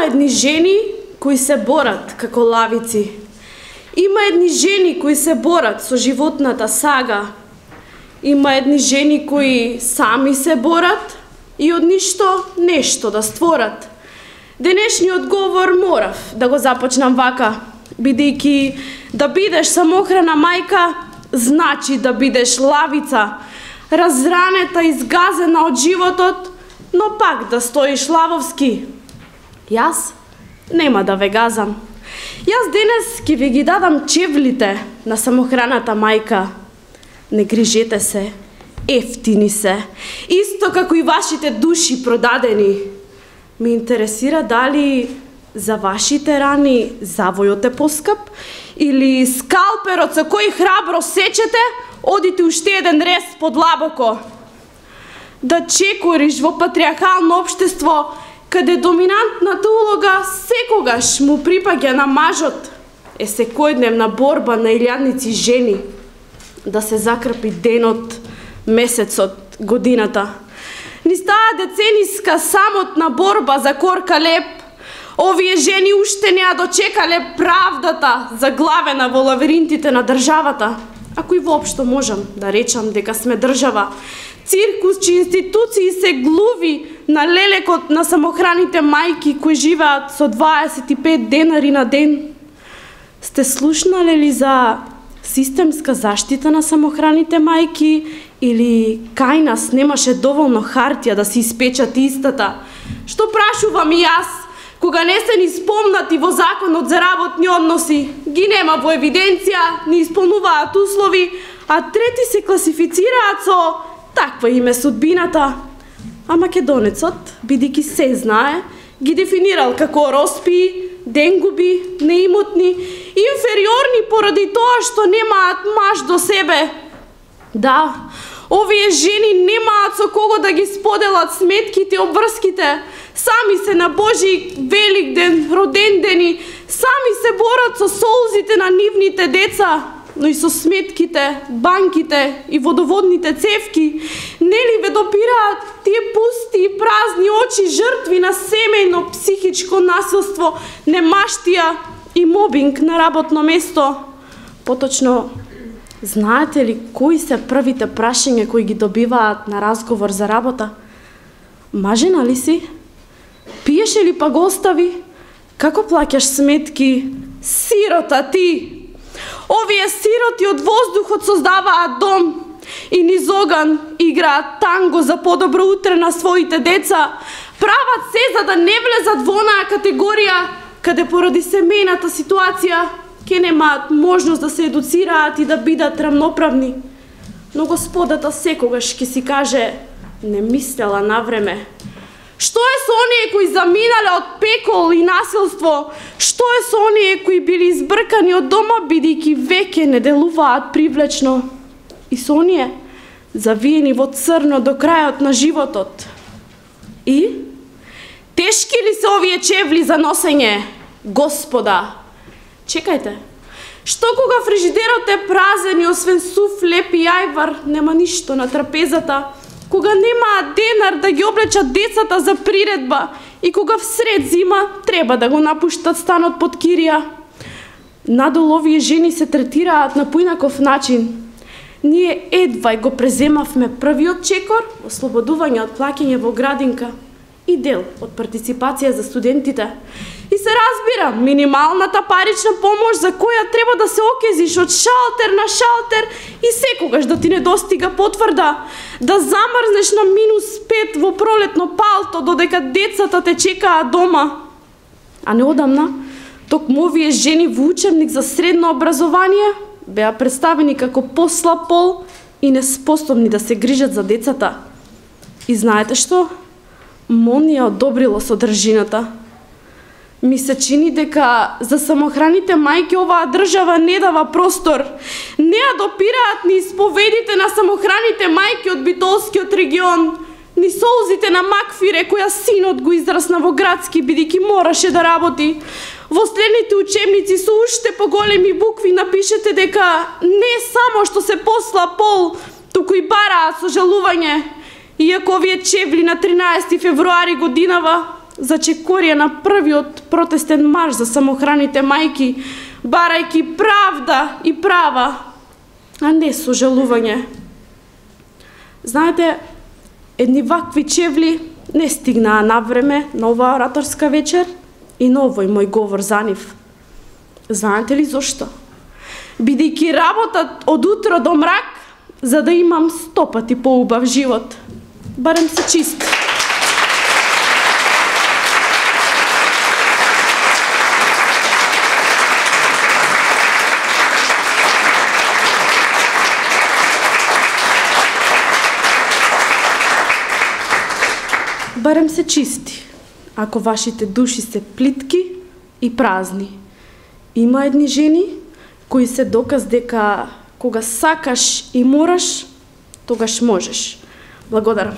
Има едни жени кои се борат како лавици. Има едни жени кои се борат со животната сага. Има едни жени кои сами се борат и од ништо нешто да створат. Денешниот говор морав да го започнам вака, бидејќи да бидеш самохрана мајка значи да бидеш лавица, разранета и згазена од животот, но пак да стоиш лавовски. Јас нема да ве газам. Јас денес ќе ви ги дадам чевлите на самохраната мајка. Не грижете се, ефтини се, исто како и вашите души продадени. Ме интересира дали за вашите рани завојот е поскап или скалперот со кој храбро сечете одите уште еден рез подлабоко. Да чекориш во патриархално општество каде доминантната улога секогаш му припаѓа на мажот, е секојдневна борба на илјадници жени да се закрпи денот, месецот, годината. Низ таа децениска самотна борба за корка леп, овие жени уште не ја дочекале правдата заглавена во лавиринтите на државата, ако и воопшто можам да речам дека сме држава. Циркус чии институции се глуви на лелекот на самохраните мајки кои живеат со 25 денари на ден. Сте слушнале ли за системска заштита на самохраните мајки или кај нас немаше доволно хартија да се испечат истата? Што прашувам и јас, кога не се ни спомнати во законот за работни односи, ги нема во евиденција, не исполнуваат услови, а трети се класифицираат со таква им е судбината. А македонецот, бидејќи се знае, ги дефинирал како роспии, денгуби, неимотни, инфериорни поради тоа што немаат маж до себе. Да, овие жени немаат со кого да ги споделат сметките и обврските, сами се на Божи Великден, родендени, сами се борат со солзите на нивните деца, но и со сметките, банките и водоводните цевки. Нели ве допираат тие пусти и празни очи жртви на семејно психичко насилство, немаштија и мобинг на работно место? Поточно, знаете ли кои се првите прашања кои ги добиваат на разговор за работа? Мажена ли си? Пиеше ли па го остави? Како плаќаш сметки? Сирота ти! Овие сироти од воздухот создаваат дом и низ оган играат танго за подобро утре на своите деца. Прават се за да не влезат во онаа категорија каде поради семејната ситуација ќе немаат можност да се едуцираат и да бидат рамноправни. Но Господата секогаш ќе си каже: не мислела на време. Што е со оние кои заминале од пекол и насилство? Што е со оние кои били избркани од дома бидејќи веќе не делуваат привлечно? И со оние завиени во црно до крајот на животот? И? Тешки ли се овие чевли за носење? Господа, чекајте. Што кога фрижидерот е празен и освен сув, леп и ајвар нема ништо на трапезата? Кога немаат денар да ги облечат децата за приредба и кога всред зима треба да го напуштат станот под кирија? Надолу овие жени се третираат на поинаков начин. Ние едвај го преземавме првиот чекор, ослободување од плаќање во градинка и дел од партиципација за студентите. И се разбира, минималната парична помош за која треба да се окезиш од шалтер на шалтер и секогаш да ти не достига потврда, да замрзнеш на -5 во пролетно палто додека децата те чекаат дома. А неодамна, токму овие жени во учебник за средно образование беа представени како послаб пол и неспособни да се грижат за децата. И знаете што? МОН ја одобрило содржината. Ми се чини дека за самохраните мајки оваа држава не дава простор. Не ја допираат ни исповедите на самохраните мајки од битолскиот регион, ни солзите на Макфире која синот го израсна во градски бидејќи мораше да работи. Во следните учебници со уште поголеми букви напишете дека не само што се послаб пол, туку и бараат сожалување. Иако овие чевли на 13 февруари годинава зачекорија на првиот протестен марш за самохраните мајки, барајки правда и права, а не сожалување. Знаете, едни вакви чевли не стигнаа навреме на оваа ораторска вечер и на овој мој говор за нив. Знаете ли зошто? Бидејќи работат од утро до мрак, за да имам 100 пати поубав живот. Барем се чисти. Барем се чисти, ако вашите души се плитки и празни. Има едни жени кои се доказ дека кога сакаш и мораш, тогаш можеш. Благодарам.